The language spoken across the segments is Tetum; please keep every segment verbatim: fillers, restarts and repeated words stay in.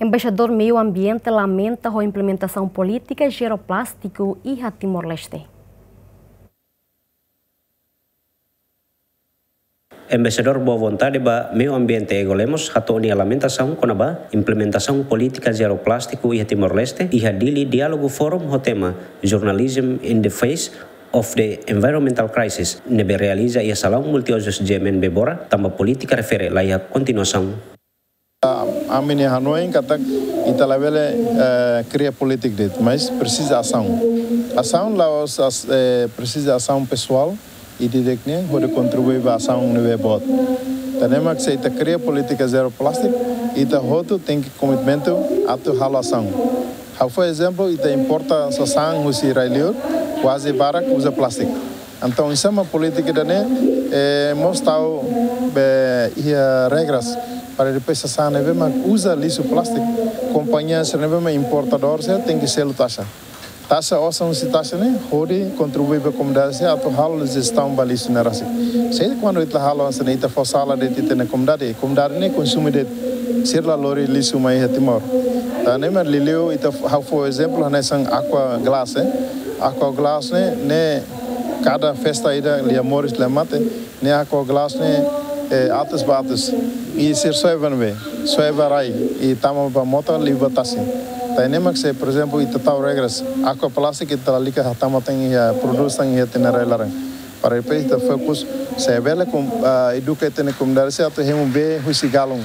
Embaixadór Meiu Ambiente lamenta ho implementasaun polítika zero plástiku iha Timor-Leste. Embaixadór Boa Vontade ba Meiu Ambiente Ego Lemos hato'o nia lamentasaun kona-ba implementasaun polítika zero plástiku iha Timor-Leste, iha Dili Diálogu Forum ho tema Journalism in the Face of the Environmental Crisis, ne'ebé realiza iha Salaun Multiuzus G M N Bebora, tanba polítika refere laiha kontinuasaun. Ami-nia hanoin katak ita labele, eh, kria polítika de'it, mas presiza asaun. Asaun la'ós as-, eh, presiza asaun pesoál, ida-idak nian hodi kontribui ba asaun ne'ebé boot. Tan ne'e mak se ita kria polítika zero plástiku, ita hotu tenke komitmentu atu halo asaun. Ha'u fó ezemplu, ita importa sasán husi rai-liur, kuaze barak uza plástiku. Entaun, oinsá mak polítika ida-ne'e, eh, mós tau be iha regras para depois sasán ne'ebé mak uza lixu plástiku, kompañia sira ne'ebé mak importadór sira tenke selu taxa. Taxa osan husi taxa ne'e hodi kontribui ba komunidade sira atu halo jestaun ba lixu ne'e rasik. Se kuandu ita la halo hanesan ne'e, ita fó sala de'it ita-nia komunidade, komunidade ne'e konsume de'it, sira la lori lixu mai iha Timor. Tan ne'e mak liuliu ita f-, ha'u fó ezemplu hanesan Aqua Glass, eh. Aqua Glass ne'e, ne'e kada festa ida lia moris lia mate, ne'e Aqua Glass ne'e, eh, atus ba atus. I sira soe ba ne'ebé, soe ba rai, i tama ba mota, liu ba tasi. Tan ne'e mak se, por ezemplu, ita tau regras, Aqua plástiku ita lalika hatama tan iha, prodús tan iha ita-nia rai laran. Para depois ita fokus, se bele kom-, ah, eduka ita-nia komunidade sira atu hemu bee husi galon,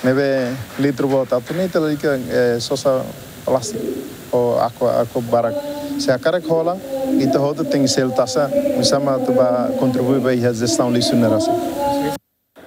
ne'ebé litru boot, atu nune'e ita lalika, eh, sosa plástiku ou Aqua, Aqua barak. Se hakarak hola, ita hotu tenke selu taxa, oinsá mak atu ba kontribui ba iha jestaun lixu ne'e rasik.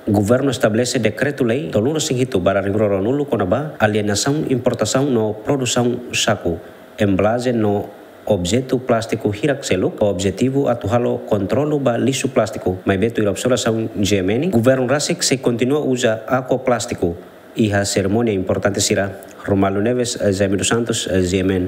Governu estabelese dekretu-lei tolunulu-resin-hitu barra rinkroro-nulu kona-ba alienasaun importasaun no produsaun saku, embalajen no objetu plástiku hirak seluk, ho objetivu atu halo kontrolu ba lixu plástiku, maibé tuir observasaun G M N, governu rasik sei kontinua uza Aqua plástiku iha serimónia importante sira. Romualdo Neves, Jaime dos Santos, G M N.